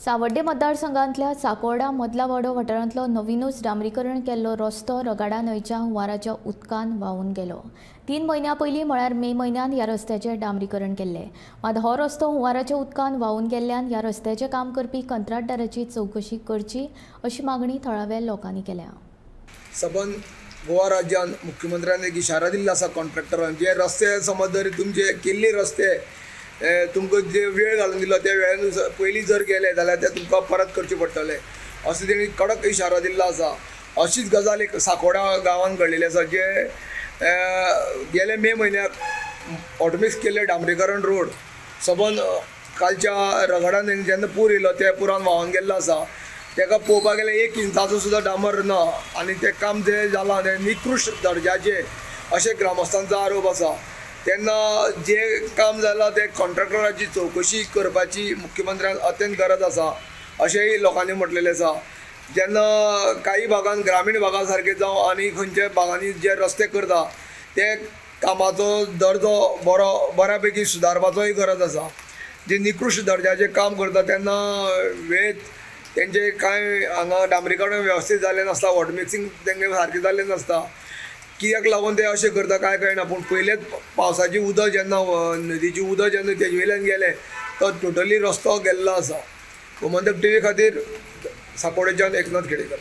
सावड्डे मतदारसंघांतल्या साकोर्डा मदलावाडो वाठारांतलो नवीनूच डांबरीकरण केल्लो रस्तो रगाडा न्हंयच्या हुंवाराच्या उदकान व्हांवून गेलो. 3 म्हयन्यां पयलीं म्हळ्यार मे म्हयन्यांत ह्या रस्त्याचें डांबरीकरण केल्लें. मात हो रस्तो हुंवाराच्या उदकान व्हांवून गेल्ल्यान ह्या रस्त्याचें काम करपी कंत्राटदाराची चवकशी करची अशी मागणी थळाव्या लोकांनी केल्या. सबंद गोवा राज्यान मुख्यमंत्र्यान एक इशारा दिल्लो आसा कॉन्ट्रॅक्टरान, जे रस्ते समज जर तुमचे केल्ले रस्ते तुमकां जे वेळ घालून दिलो त्या वेळान पयलीं जर गेले जाल्यार ते तुमकां परत करचे पडटले अशें तेणी कडक इशारो दिल्लो आसा. अशीच गजाल एक साकोडा गांवांत घडलेली आसा, जे गेले मे म्हयन्याक ऑटोमिक्स केल्ले डांबरीकरण रोड सबंद कालच्या रगडान जेन्ना पूर येयलो त्या पुरान व्हांवन गेल्लो आसा. ताका पळोवपाक गेल्यार 1 इंचाचो सुद्दां डांबर ना आनी तें काम जें जालां तें निकृश्ट दर्जाचें अशें ग्रामस्थांचो आरोप आसा. तेन्ना जें काम जालां तें कॉन्ट्रॅक्टराची चवकशी करपाची मुख्यमंत्र्यान अत्यंत गरज आसा अशेंय लोकांनी म्हटलेलें आसा. जेन्ना काही भागान ग्रामीण भागा सारके जावं आनी खंयच्या भागांनी जे रस्ते करता ते कामाचो दर्जो बरो बऱ्या पैकी सुदारपाचोय गरज आसा. जे निकृश्ट दर्जाचें काम करता तेन्ना वेळ तेंचे कांय हांगा डांबरीकरण वेवस्थीत जाल्लें नासता, वॉटर मिक्सिंग तेंगे सारकें जाल्लें नासता. कित्याक लागून ते अशें करता कांय कळना, पूण पयलेच पावसाचें उदक जेन्ना नदीचें उदक जेन्ना तेजे वयल्यान गेलें तो टोटली रस्तो गेल्लो आसा. गोमंतक टीव्ही खातीर साकोडेच्यान एकनाथ खेडेकर.